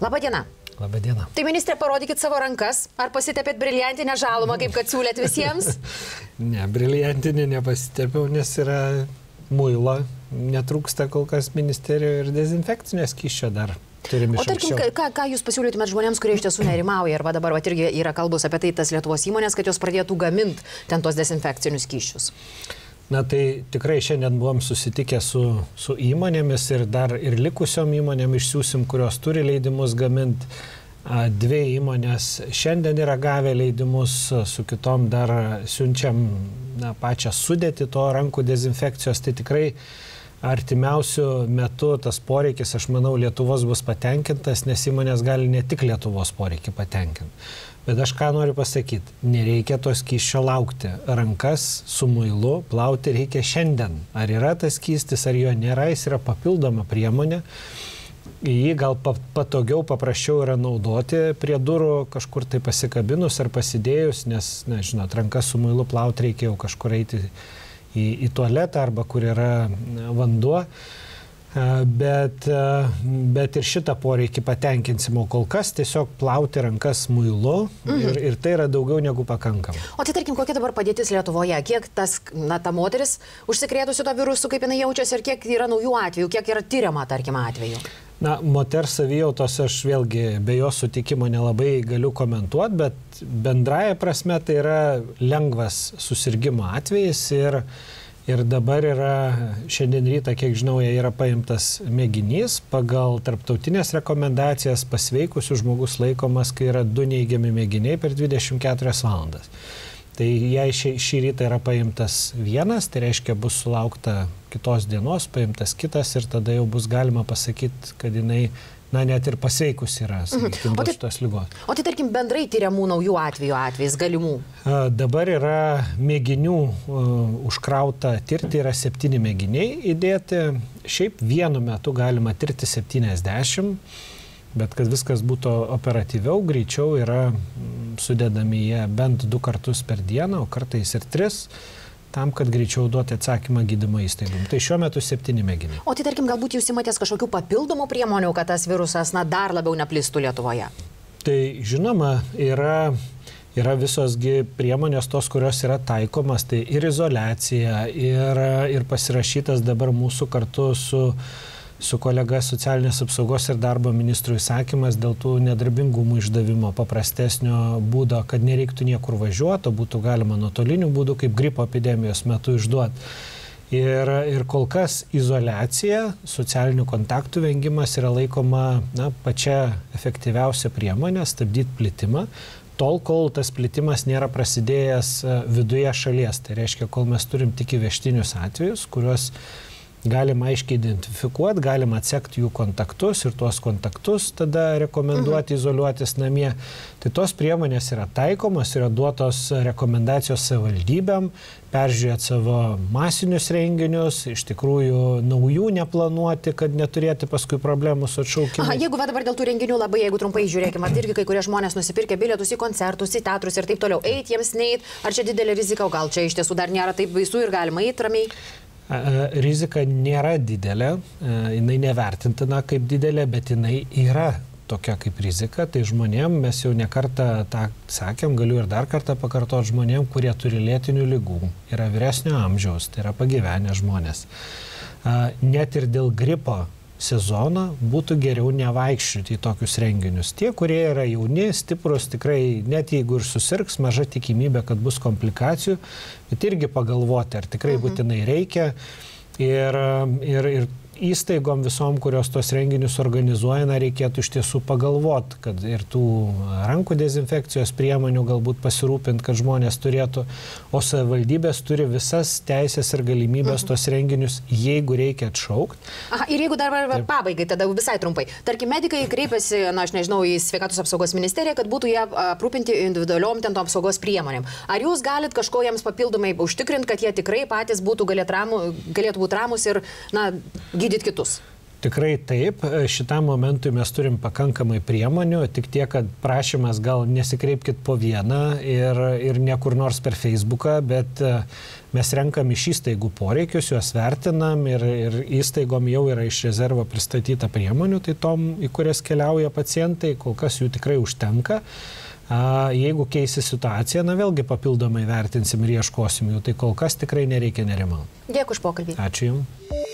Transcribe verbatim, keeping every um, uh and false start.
Labadiena. Labadiena. Tai ministrė, parodykit savo rankas, ar pasitepėt briliantinę žalumą, kaip kad siūlėt visiems? Ne, briliantinė nepasitepiau, nes yra muilo, netrūksta kol kas ministerijoje ir dezinfekcinės skysčio dar. O tarkim, ką, ką jūs pasiūlytumėt žmonėms, kurie iš tiesų nerimauja, arba dabar va, irgi yra kalbos apie tai tas Lietuvos įmonės, kad jos pradėtų gaminti ten tos dezinfekcinius skysčius? Na tai tikrai šiandien buvom susitikę su, su įmonėmis ir dar ir likusiom įmonėm išsiųsim, kurios turi leidimus gaminti. Dvi įmonės šiandien yra gavę leidimus, su kitom dar siunčiam na, pačią sudėtį to rankų dezinfekcijos. Tai tikrai artimiausių metų tas poreikis, aš manau, Lietuvos bus patenkintas, nes įmonės gali ne tik Lietuvos poreikį patenkinti. Bet aš ką noriu pasakyti, nereikia to skysčio laukti. Rankas su muilu plauti reikia šiandien. Ar yra tas skystis, ar jo nėra, jis yra papildoma priemonė. Jį gal patogiau, paprasčiau yra naudoti prie durų, kažkur tai pasikabinus ar pasidėjus, nes, na, žinot, rankas su muilu plauti reikia jau kažkur eiti į, į tualetą arba kur yra vanduo. Bet, bet ir šitą poreikį patenkinsim, o kol kas tiesiog plauti rankas muilu mhm. ir, ir tai yra daugiau negu pakankama. O tai tarkim, kokia dabar padėtis Lietuvoje? Kiek tas, na, ta moteris užsikrėtusi to virusu, kaip jinai jaučiasi ir kiek yra naujų atvejų, kiek yra tyriama, tarkim, atvejų? Na, moters savijautos aš vėlgi be jos sutikimo nelabai galiu komentuoti, bet bendraja prasme tai yra lengvas susirgymo atvejis ir Ir dabar yra, šiandien rytą, kiek žinau, yra paimtas mėginys, pagal tarptautinės rekomendacijas pasveikusių žmogus laikomas, kai yra du neigiami mėginiai per dvidešimt keturias valandas. Tai jei šį, šį rytą yra paimtas vienas, tai reiškia bus sulaukta kitos dienos, paimtas kitas ir tada jau bus galima pasakyti, kad jinai na, net ir pasveikus yra, sakykim, dėl šitos ligos. O tai, tarkim, bendrai tyriamų naujų atvejų atvejais galimų? Dabar yra mėginių uh, užkrauta tirti, yra septyni mėginiai įdėti. Šiaip vienu metu galima tirti septyniasdešimt, bet kad viskas būtų operatyviau, greičiau yra sudedami jie bent du kartus per dieną, o kartais ir tris. Tam, kad greičiau duoti atsakymą gydymo įstaigom. Tai šiuo metu septyni mėginiai. O tai, tarkim, galbūt jūs imatės kažkokių papildomų priemonių, kad tas virusas, na, dar labiau neplistų Lietuvoje? Tai, žinoma, yra, yra visosgi priemonės tos, kurios yra taikomas, tai ir izoliacija, ir, ir pasirašytas dabar mūsų kartu su su kolega socialinės apsaugos ir darbo ministrų įsakymas dėl tų nedarbingumų išdavimo paprastesnio būdo, kad nereiktų niekur važiuoti, o būtų galima nuotoliniu būdu, kaip gripo epidemijos metu išduoti. Ir, ir kol kas izoliacija, socialinių kontaktų vengimas yra laikoma na, pačia efektyviausia priemonė stabdyti plitimą, tol, kol tas plitimas nėra prasidėjęs viduje šalies. Tai reiškia, kol mes turim tik įvežtinius atvejus, kuriuos galima aiškiai identifikuoti, galima atsekti jų kontaktus ir tuos kontaktus tada rekomenduoti mhm. izoliuotis namie. Tai tos priemonės yra taikomos, yra duotos rekomendacijos savivaldybėm, peržiūrėti savo masinius renginius, iš tikrųjų naujų neplanuoti, kad neturėti paskui problemų su atšaukimais. Aha, jeigu dabar dėl tų renginių labai, jeigu trumpai žiūrėkime, irgi kai kurie žmonės nusipirkę bilietus į koncertus, į teatrus ir taip toliau, eit jiems neit, ar čia didelė rizika, o gal čia iš tiesų dar nėra taip baisu ir galima eit ramiai? Rizika nėra didelė, jinai nevertintina kaip didelė, bet jinai yra tokia kaip rizika. Tai žmonėm, mes jau nekartą tą sakėm, galiu ir dar kartą pakartoti žmonėm, kurie turi lėtinių ligų, yra vyresnio amžiaus, tai yra pagyvenę žmonės. Net ir dėl gripo sezono būtų geriau nevaikščioti į tokius renginius. Tie, kurie yra jauni, stiprus, tikrai net jeigu ir susirgs, maža tikimybė, kad bus komplikacijų, bet irgi pagalvoti, ar tikrai būtinai reikia. Ir, ir, ir įstaigom visom, kurios tos renginius organizuoja, na, reikėtų iš tiesų pagalvoti, kad ir tų rankų dezinfekcijos priemonių galbūt pasirūpinti, kad žmonės turėtų, o savivaldybės turi visas teisės ir galimybės tos renginius, jeigu reikia atšaukti. Aha, ir jeigu dar Taip. pabaigai, tada visai trumpai. Tarkim, medikai kreipiasi, na, aš nežinau, į Sveikatos apsaugos ministeriją, kad būtų jie aprūpinti individualiom ten to apsaugos priemonėm. Ar jūs galit kažko jiems papildomai užtikrinti, kad jie tikrai patys būtų galėtų, ramu, galėtų būti ramus ir, na, gydyti kitus? Tikrai taip, šitam momentui mes turim pakankamai priemonių, tik tiek, kad prašymas gal nesikreipkit po vieną ir, ir niekur nors per Facebooką, bet mes renkam iš įstaigų poreikius, juos vertinam ir, ir įstaigom jau yra iš rezervo pristatyta priemonių, tai tom, į kurias keliauja pacientai, kol kas jų tikrai užtenka. Jeigu keisi situaciją, na vėlgi papildomai vertinsim ir ieškosim jų, tai kol kas tikrai nereikia nerimauti. Dėkui už pokalbį. Ačiū Jums.